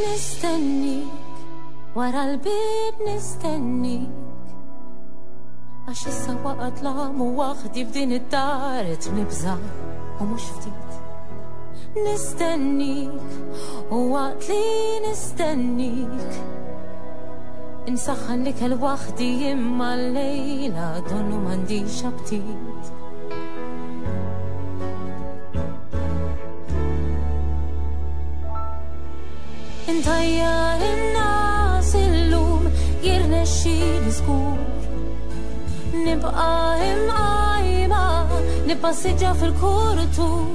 Nistennik, wara l-bib nistennik. Għax issa waqgħet l-għam u waħdi f'din id-dar qed nibża' u mhux ftit. Nistennik u waqt li nistennik Insaħħan l-ikel waħdi imma llejla donnu m'għandix aptit. Intajjar in-nas illum jirnexxieli żgur. Nibqa' imqajma, nippassiġġa fil-kuritur.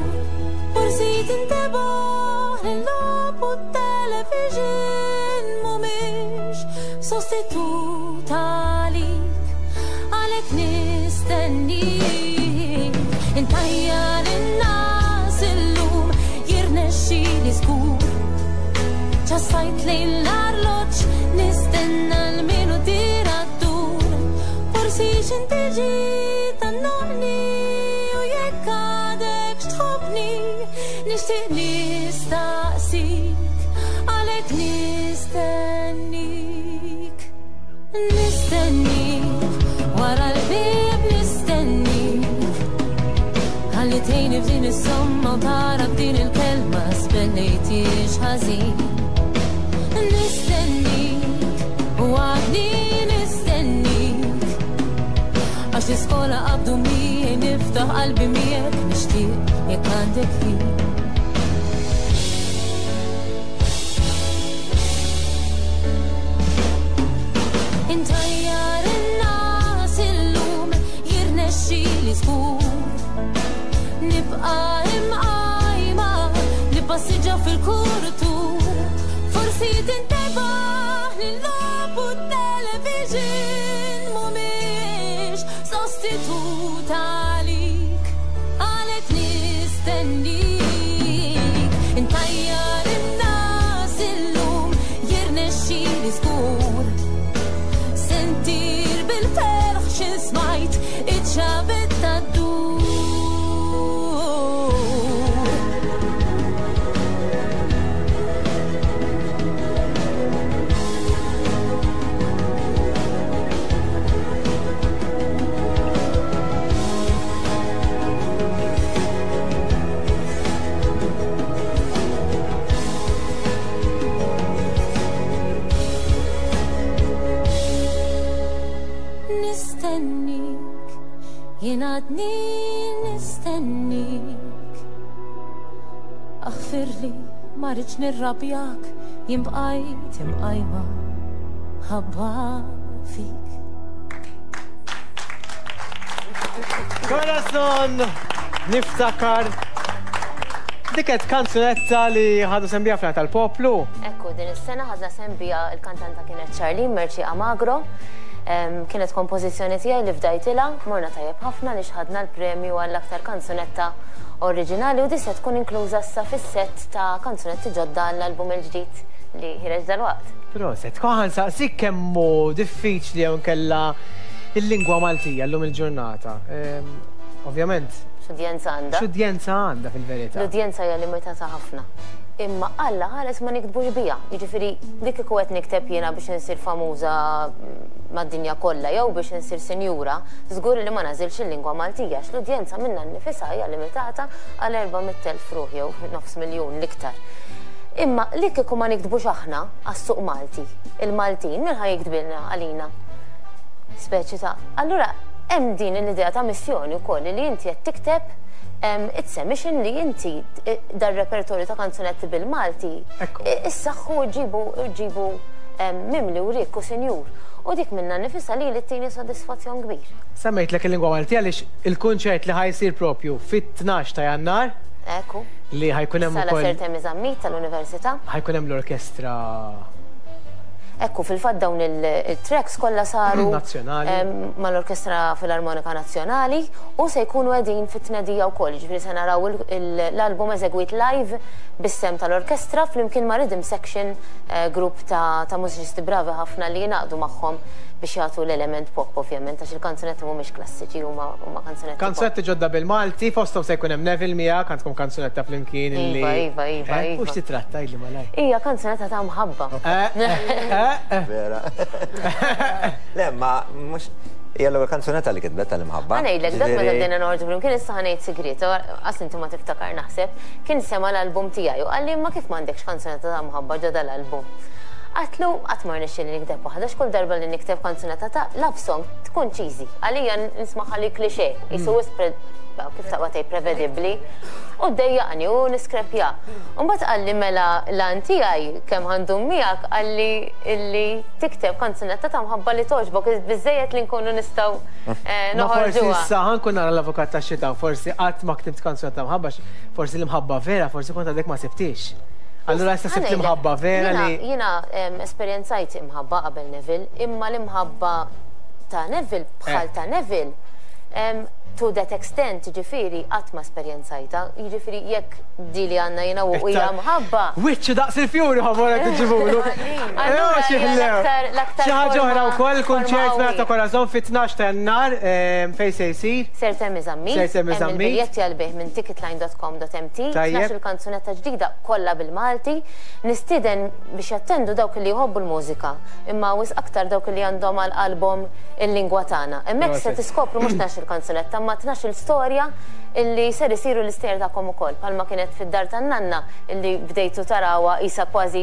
Forsi tintebaħ li l-logħob u t-television mhumiex sostitut għalik. Għalhekk nistennik. Intajjar in-nas illum jirnexxieli żgur. Ċassajt lejn l-arloġġ nistenna l-minuti ddur. Forsi x'in tiġi tgħannaqni u jekk għadek x'tħobbni nixtieq nistaqsik għalhekk nistennik. Nistennik wara l-bieb nistennik. Ħalli tgħinni f'din is-somma u tara b'din il-kelma spennejtix ħażin. Nistennik u għadni nistennik. Għax l-iskola qabdu miegħi niftaħ qalbi miegħek nixtieq jekk għandek ħin. Intajjar in-nas illum jirnexxieli żgur. Nibqa' imqajma, nippassiġġa fil-kuritur. Forsi tintebaħ li l-logħob u t-television mhumiex sostitut għalik. Nistennik, intajjar in-nas illum jirnexxieli żgur. Sentir bil-ferħ xi smajt iċ-ċavetta ddur. Nistennik, jien għadni nistennik. Aħfirli ma rridx nirrabjak, jien bqajt imqajma ħabba fik.
Corazon niftakar Dik kanzunetta li ħadu sehem biha fl tal-poplu.
Ekku, din is-sena ħadna sehem biha il-kantanta kienet Charlene Merci Amagro. Kienet kompożizzjoni tiegħi li fdajtilha, morna tajjeb ħafna li ħadna l-premju għall-aktar kanzunetta oriġinali u di se tkun inkluża issa fis-set ta' kanzunetti ġodda għall-album il-ġdid li ħireġ dalwaqt.
Proset, ħa nsaqsik kemm hu diffiċli jew nkella il-lingwa Maltija llum il-ġurnata. Ovvjament.
X'udjenza għandha?
X'udjenza għandha fil-verità?
L-udjenza hija limitata ħafna. Imma Alla ħares ma niktbux biha. Jiġifieri li kieku qed nikteb jiena biex insir famuża mad-dinja kollha jew biex insir sinjura, żgur li ma nagħżilx il-lingwa Maltija għax l-udjenza minnha nnifisha hija limitata għal 400,000 ruħ jew nofs miljun l-iktar. Imma li kieku ma niktbux aħna għas-suq Malti, il-Maltin min ħa jiktbilna għalina? Speċi ta' allura hemm din l-idea ta' missjoni wkoll li inti qed tikteb it's a mission li inti dar-repertorju ta' kanzunetti bil-Malti issaħħu ġibu ġibu mimli u rikk u sinjur. U dik minna nifisha li li ttini sodisfazzjon kbir.
Semmejtlek il-lingwa Maltija għaliex il-kunċert li ħa jsir propju fit-12 ta' Jannar.
Ekku.
Li ħa jkun hemm
ukoll. Sala Sir Temi Zammit tal-Università.
Ħa jkun hemm l-orkestra.
Ekku, fil-fatt dawn il-tracks kollha saru mal-Orkestra Filarmonika Nazzjonali u se jkunu qegħdin fit-tnedija wkoll, jiġifieri se naraw l-album eżegwit live bis-sehem tal-orkestra flimkien ma' rhythm section grupp ta' mużiċisti bravi ħafna li jingħaqdu magħhom biex jagħtu l-element pop ovvjament għax il-kanzunetti mhumiex klassiċi huma kanzunetti.
Kanzunetti ġodda bil-Malti, fosthom se jkun hemm Neville miegħek, għandkom kanzunetta flimkien
illi. Iva, iva, iva.
U x'titratta jgħidli malajr?
Hija kanzunetta ta' mħabba.
Vera. Le, ma mhux hija l-ewwel kanzunetta li kitbet tal-imħabba.
Ħa ngħidlek, dak meta bdejna noħorġu flimkien issa ħa ngħid sigriet, qas inti ma tiftakar naħseb, kien sema' l-album tiegħi u qalli imma kif m'għandekx kanzunetta ta' mħabba ġo dal-album. Għedtlu qatt ma rnexxieli nikteb waħda għax kull darba li nikteb kanzunetta ta' love song tkun cheesy. Għalija nismagħha li cliché, qisu wisq kif taqbad tgħid prevedibbli. U ddejjaqni u niskrepja. U mbagħad qalli mela l-għan tiegħi kemm ħa ndum miegħek qalli illi tikteb kanzunetta ta' mħabba li togħġbok biżżejjed li nkunu nistgħu
Ma forsi
noħorġuha.
issa ħa nkun nara l-avukat tax-xitan, forsi qatt ma ktibt kanzunetta ta' mħabba għax forsi l-imħabba vera forsi kont għadek ma sibtiex. Allura issa sibt l-imħabba vera li.
Jiena esperjenzajt imħabba qabel Neville, imma l-imħabba ta' Neville bħal ta' Neville to that extent, jiġifieri qatt ma esperjenzajtha. Jiġifieri jekk di li għandna jiena u hija mħabba.
Wiċċu daqs il-fjuri ħomor qed iġibulu.
Allura l-aktar.
Xi ħaġa oħra wkoll kunċert mela ta' Corazon fit-12 ta' Jannar fejn se jsir?
Sir Temi Zammit.
Sir Temi Zammit.
Il-biljetti għall-bejgħ minn ticketline.com.mt. 12-il kanzunetta ġdida kollha bil-Malti. Nistieden biex jattendu dawk li jħobbu l-mużika, imma wisq aktar dawk li għandhom għal qalbhom il-lingwa tagħna. Hemmhekk se tiskopru mhux 12-il kanzunetta, imma 12-il storja illi ser isiru l-istejjer tagħkom ukoll, bħalma kienet fid-dar tan-nanna illi bdejtu tarawha qisha kważi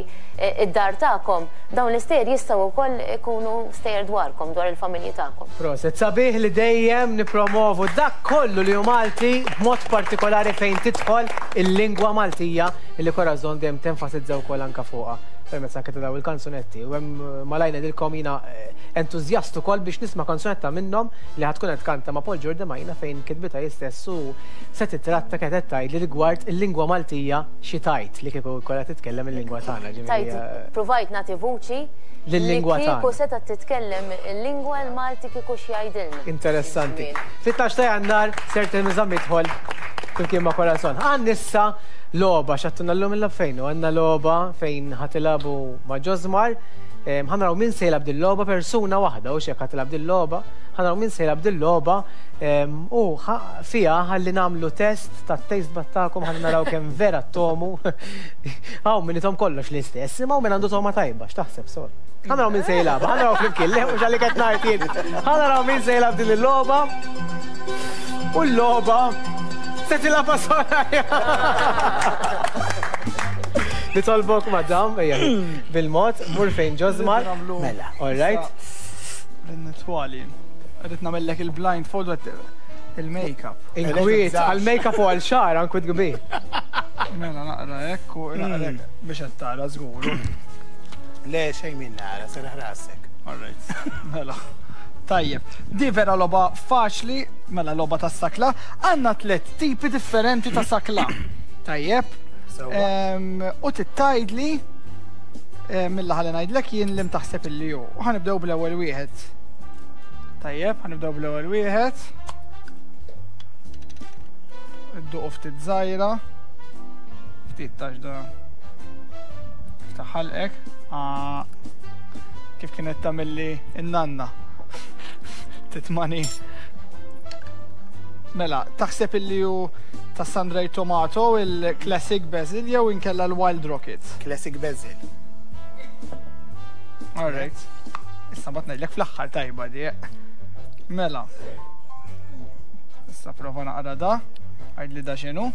id-dar tagħkom, dawn l-istejjer jistgħu wkoll ikunu stejjer dwarkom, dwar il-familji tagħkom.
Proset, sabiħ li dejjem nippromovu dak kollu li hu Malti b'mod partikolari fejn tidħol il-lingwa Maltija illi Corazon dejjem tenfasizza wkoll anke fuqha permezz anke ta' dawn il-kanzunetti. U hemm malajr ngħidilkom jiena entużjast ukoll biex nisma' kanzunetta minnhom li ħa tkun qed tkanta ma' Paul Giordemaina fejn kitbitha hi stess u se titratta kienet qed tgħidli rigward il-lingwa Maltija xi tgħid li kieku jkollha titkellem il-lingwa tagħna ġifieri.
Tgħid pruvajt nagħti vuċi
lil-lingwa
tagħna. Li kieku setgħet titkellem il-lingwa l-Malti kieku x'jgħidilna.
Interessanti. Fit-tnax ta' Jannar ser tinżamm idħol. Flimkien ma' Corazon. Għandna issa logħba x'għattuna llum il-logħob fejn hu? Għandna logħba fejn ħa tilagħbu ma' Josmar. Ħa naraw min se jilgħab din logħba persuna waħda u x'hekk ħa tilgħab din logħba. Ħa naraw min se jilgħab din logħba u fiha ħalli nagħmlu test tat-taste bud tagħkom ħalli naraw kemm vera ttomu. Hawn min ithom kollox l-istess, imma hawn min għandu togħma tajba, x'taħseb Sol? Ħa naraw min se jilgħabha, ħa naraw flimkien, le mhux għalik qed ngħid jien. Ħa naraw min se jilgħab din il-logħba. U l-logħba se tilgħabha Soraya. Nitolbok madam, ejja, bil-mod, mur fejn Josmar.
Mela.
All right.
Nitwali. Rrid nagħmellek il-blindfold il-makeup.
Inkwiet, għal-makeup u għal-xagħar, inkwiet kbir.
Mela naqra hekk u naqra hekk biex qed tara żgur.
Le xejn min nara, serraħ rasek.
All right. Mela. Tajjeb. Di vera logħba faċli, mela logħba tas-sakla, għandna tliet tipi differenti ta' sakla. Tajjeb. U tittajdli mill ħalli ngħidlek jien li mtaħseb illi hu. U ħanibdew bl-ewwel wieħed. Tajjeb, ħanibdew bl-ewwel wieħed. Idduqu ftit żgħira. Ftit tax da. Ftaħ ħalqek. Ah. Kif kienet tagħmilli n-nanna. Titmani. Mela, taħseb illi hu ta' Sandray Tomato, il-Classic Basil jew inkella l-Wild Rocket?
Classic Basil.
All right. Issa mbagħad ngħidlek fl-aħħar tajba di. Mela. Issa prova naqra da. Għidli da x'inhu.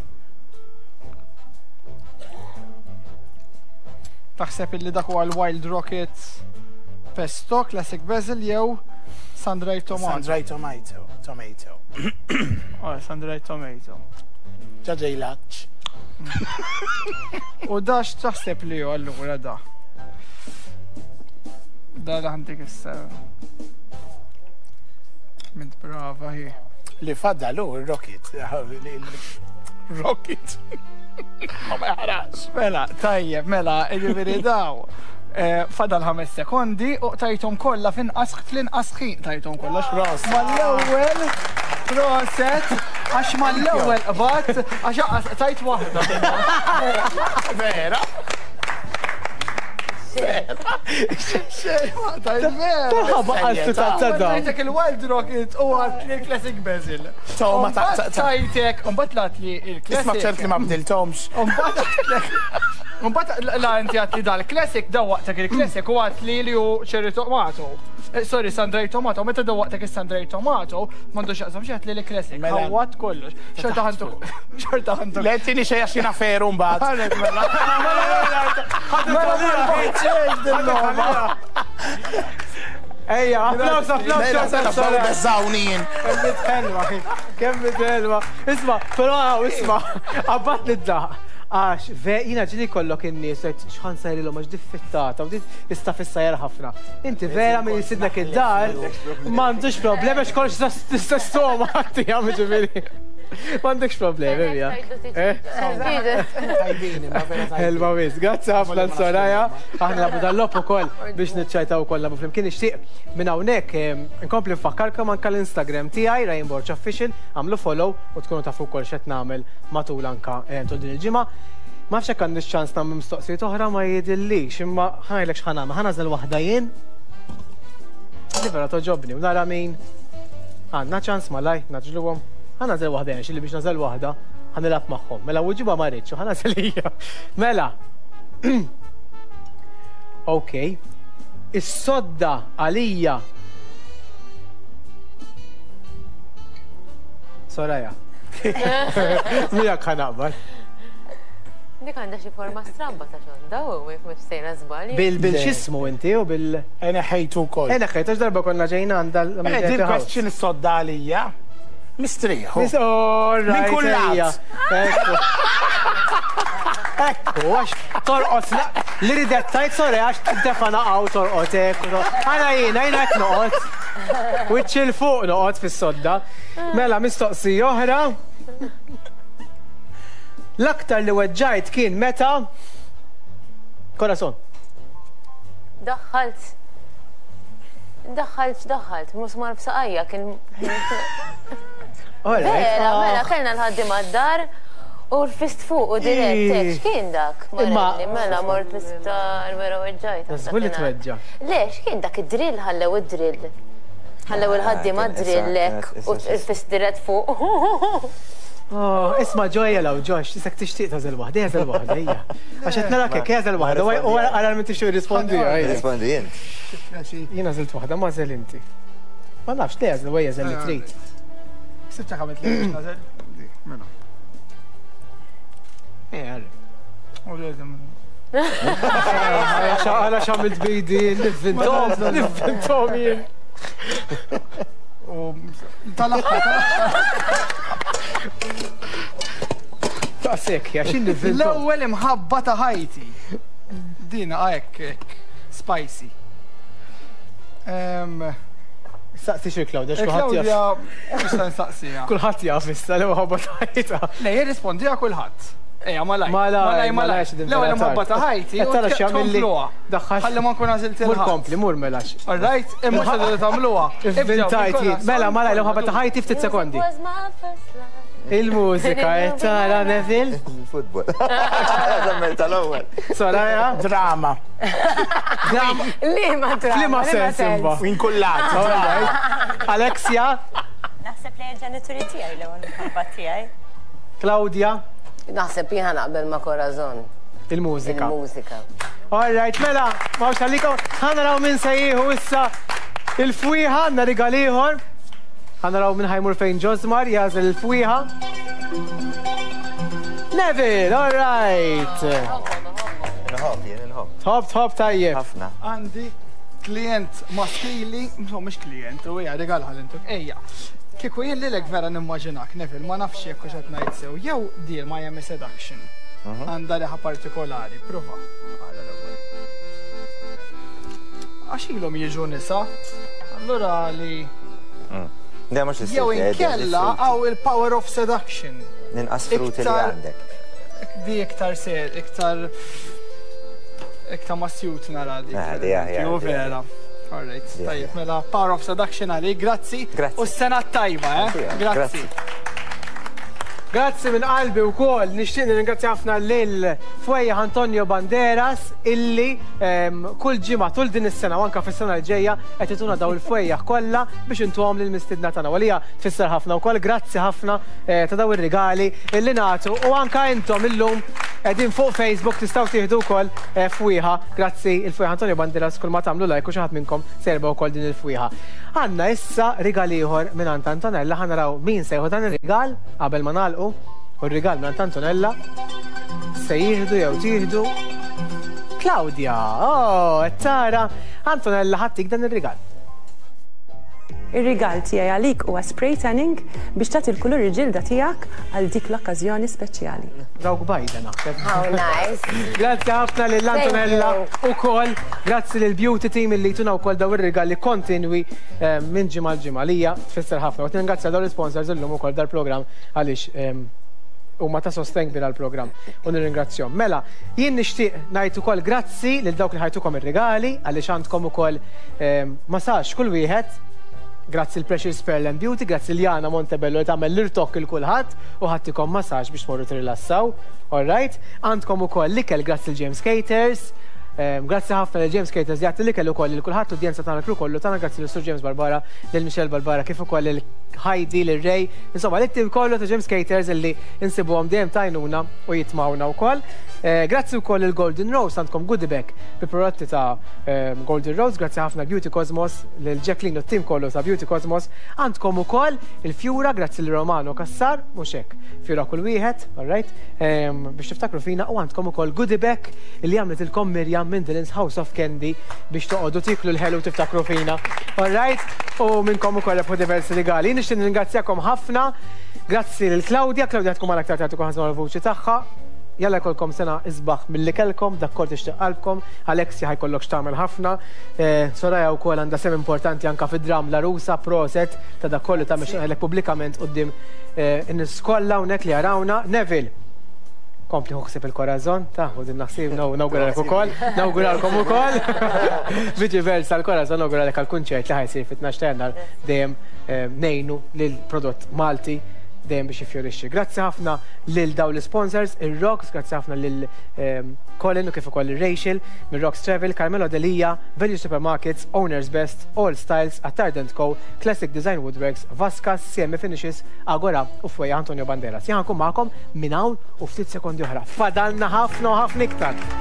Taħseb illi dak huwa l-Wild Rocket Pesto, Classic Basil jew Sundried Tomato?
Sundried Tomato. Tomato.
Oh, Sundried Tomato.
Ġaġej laċ.
U da x'taħseb li hu allura da? Da li ħantik issa. Mint brava hi.
Li fadal hu r-rocket. Rocket. Ma ma jħarax.
Mela, tajjeb, mela, jiġifieri daw. Eh, fadal ħames sekondi u tajthom kollha f'inqas fl-inqas ħin tajthom kollha.
Proset.
Mal-ewwel proset għax mal-ewwel qbad għax aqas tajt waħda.
Vera.
Tajtek il-Wild Rocket u għat li Classic Basil.
Toma ta'
tajtek, un bat lat li il-Classic.
Isma ċert li ma bdiltomx.
Un bat la inti għat li dal-Classic, da waqtek il-Classic u għat li li u cherry tomato. Eh, sorry, Sandray Tomato, meta da waqtek il-Sandray Tomato, mandu xaqsam xieħat li l-Classic.
Mela.
Għawat kollox. Xorta ħantu. Xorta ħantu.
Le tini xej għax jina feru mbagħad.
Mela, mela, mela, mela,
Ejja, applaus, applaus, applaus.
Beżawni jien.
Kemm helwa, kemm helwa. Isma, però isma, abbat niddaħ. Għax, ve, jina ġili kollok in-nies, xħan sajrilhom għax diffittata, u tista' fissajjar ħafna. Inti vera min jisidnek id-dar, m'għandux problemi għax kollox tista' stoma tiegħu ġifieri. M'għandekx problemi mija. Eh? Elba wis, grazzi ħafna l-Soraya. Aħna nabu dal-lop ukoll biex niċċajtaw ukoll nabu flimkien nixtieq minn hawnhekk eh, nkompli nfakkarkom anke l-Instagram tiegħi Ryan Borg Official, għamlu follow u tkunu tafu wkoll x'qed nagħmel matul anka eh, tul din il-ġimgħa. Ma nafx hekk għandix ċans nagħmel mistoqsijiet oħra ma jidhirlix, imma ħajlek x'ħa nagħmel, ħa nagħżel waħda jien. Li vera toġobni u nara min għandna ċans malaj naġluhom. Ħa nagħżel waħda jien xilli biex nagħżel waħda ħa nilgħab magħhom. Mela wiġiba ma rridx u ħa nagħżel hija. Mela. Ok. Is-sodda għalija. Soraya. Miegħek ħa naqbel.
Dik għandha xi forma stramba ta' xonda u jekk mhux sejra żball.
Bil bil x'ismu inti u bil.
Eneħejtu wkoll.
Eneħejtu għax darba konna ġejna għandha l.
Eh, din question is-sodda għalija. Mistrieħu.
Minn
kull lat.
Ekku. Ekku, għax torqod li ridet tajt sore għax tiddefa naqgħu torqod hekk. Għala jiena jiena qed noqgħod. Wiċċ il fuq noqgħod fis-sodda. Mela mistoqsija oħra. L-aktar li weġġajt kien meta Corazon.
Daħħalt Daħħalt x'daħħalt, musmar f'saqajja kien. Vera, mela kellna l-ħaddiema d-dar u rfist fuq u dirett hekk. X'kien dak? Marelli, mela mort l-isptar, vera weġġajt.
Żgur li tweġġa'.
Le, x'kien dak id-drill ħallew id-drill. Ħallew il-ħaddiema d-drill hekk u rfist dirett fuq.
Oh, isma' ġojja law Josh, isek tixtieq tagħżel waħda, għażel waħda, ejja. Għax qed narak hekk, għażel waħda, u ara min tixtieq jirrispondi.
Rispondi int.
Jien għażilt waħda, ma għażel inti. Ma nafx, le għażel, ejja għażel li trid.
Sibta għamilt li biex nagħżel. Mela.
Ejja, għarri. U le, Għala xamilt bidi, nivvintom, nivvintom jien.
U tal-aħħar.
Ta' sekk, għax nivvintom.
L-ewwel imħabba ta' ħajti. Dina hekk hekk spicy.
Saqsi xi Claudia, x'kulħadd jaf.
Claudia, nista' nsaqsiha.
Kulħadd jaf issa li mħabba ta' ħajta.
Le, jirrispondiha kulħadd. Ejja, malaj.
Malaj, malaj,
L-ewwel imħabba ta' ħajti.
Qed tara x'jagħmilli.
Ħalli ma nkun għażilt
Mur kompli, mur mela.
All right, imma se tagħmluha.
Ivvintajt jien. Mela, malaj, l-imħabba ta' ħajti ftit sekondi. Il-mużika qed tara Neville.
Football. Żammel tal-ewwel.
Soraya.
Drama.
Drama.
Liema drama.
Liema sens imma.
Inkullat.
Alexia.
Naħseb li l-ġenituri tiegħi l-ewwel imħabba tiegħi.
Claudia.
Naħseb jien naqbel ma' Corazon.
Il-mużika.
Il-mużika.
All right, mela, ma għalikom, ħa naraw min se jieħu issa il-fwieħa, għandna rigal ieħor. Ħa naraw min ħa jmur fejn Josmar jagħżel il-fwieħa. Neville, all right.
Nħobb, jien nħobb.
Tħobb, tħobb tajjeb.
Ħafna.
Għandi klient maskili, no, mhux klient, u hija rigal ħalintuk, ejja. Kieku jien lilek vera nimmaġinak, Neville, ma nafx jekk hux qed ngħid sew, jew deal Miami Seduction. Għandha riħa partikolari, prova. Għala l-ewwel. Għax ilhom jiġu nisa, allura li.
Le mhux
Jew inkella għaw il-power of seduction.
Ninqas fruti li għandek.
Di iktar ser, iktar iktar ma sjut nara di.
Ah, di aħjar.
Ju vera. All right, tajjeb, mela power of seduction għalik, grazzi.
Grazzi.
U s-sena tajba, eh? Grazzi.
Grazzi minn qalbi wkoll nixtieq nirringrazzja ħafna lil Fwejjaħ Antonio Banderas illi ehm, kull ġimgħa tul din is-sena u anke fis-sena l-ġejja qed ituna daw il-fwejjaħ kollha biex intuhom lil mistiedna tagħna. Għalija tfisser ħafna wkoll grazzi ħafna eh, ta' daw ir-rigali illi nagħtu u anke intom illum qegħdin fuq Facebook tistgħu tieħdu wkoll eh, fwieħa. Grazzi il-Fwejjaħ Antonio Banderas kull ma tagħmlu like u xi ħadd minnkom se jerbaħ ukoll din il-fwieħa. Għandna issa rigal ieħor mingħand Antonella ħa naraw min se jieħu dan ir-rigal qabel ma nagħlqu u r-rigal mingħand Antonella se jieħdu jew tieħdu Claudia. Oh, qed tara Antonella ħa ttik dan ir-rigal.
Ir-rigal tiegħi għalik huwa spray tanning biex tagħti l-kulur il-ġilda tiegħek għal dik l-okkażjoni speċjali.
Dawk bajda naħseb.
How nice.
Grazzi ħafna lil Antonella ukoll, grazzi lil Beauty Team illi jtuna wkoll daw ir-rigali kontinwi eh, minn ġimgħa l-ġimgħa li hija tfisser ħafna. U ningrazzja dawn l-sponsors illum ukoll dal-programm għaliex ehm, huma ta' sostenn kbir għall-programm u nirringrazzjahom. Mela, jien nixtieq ngħid ukoll grazzi lil dawk li ħajtukom ir-rigali għaliex għandkom ukoll ehm, massage kull wieħed. Grazzi l-Precious Pearl and Beauty, grazzi l-Jana Montebello li tagħmel l-irtokk il kulħadd u ħattikom massage biex tmorru tirrilassaw. All right? Għandkom ukoll l-ikel grazzi l-James Caters. Ehm, grazzi ħafna lil James Caters li jagħti l-ikel ukoll lil kulħadd l-udjenza tagħna l kollu tagħna grazzi lil Sur James Barbara, lil Michelle Barbara kif ukoll lil Heidi, lil Ray, insomma lit-tim kollu ta' James Caters illi insibuhom dejjem tajnuna u jitmawna wkoll. Eh, grazzi wkoll il Golden Rose għandkom goodie bag bi prodotti ta' ehm, Golden Rose, grazzi ħafna Beauty Cosmos lil Jacqueline u t-tim kollu ta' Beauty Cosmos. Għandkom ukoll il-fjura grazzi lil Romano Cassar, mhux hekk, fjura kull wieħed, all right, ehm, biex tiftakru fina u għandkom ukoll goodie bag li għamlitilkom Mirjam minn Dylan's House of Candy biex toqogħdu tiklu l-ħelu u tiftakru fina. All right, u minnkom ukoll rebħu diversi rigali. Nixtieq nirringrazzjakom ħafna. Grazzi lil Claudia, Claudia tkun magħna aktar tard ukoll ħa l-vuċi tagħha. Jalla jkollkom sena isbaħ milli kellkom, dak kol tixtieq qalbkom. Alexia ħa jkollok x'tagħmel ħafna. Eh, Soraya wkoll għandha sem importanti anka fid-dram L-Għarusa, proset ta' dak kollu ta' ngħidlek pubblikament quddiem eh, in-nies kollha hawnhekk li jarawna. Neville. Kompli ħu ħsieb il-Corazon, ta' u din naħsib nawguralek ukoll, nawguralkom ukoll. Viċi versa l-Corazon nawguralek għall-kunċert li ħa jsir fit-12 ta' Jannar dejjem ngħinu lill-prodott Malti dejjem biex jiffjorixxi. Grazzi ħafna lil dawn l-isponsors, ir-Rocks, grazzi ħafna lil Colin u kif ukoll lil Rachel minn Rocks Travel, Carmelo Delia, Value Supermarkets, Owners Best, All Styles, Attard Co, Classic Design Woodworks, Vascas, CM Finishes, Agora u Fwejja Antonio Banderas. Jien ħa nkun magħkom minn hawn u ftit sekondi oħra. Fadalna ħafna u ħafna iktar.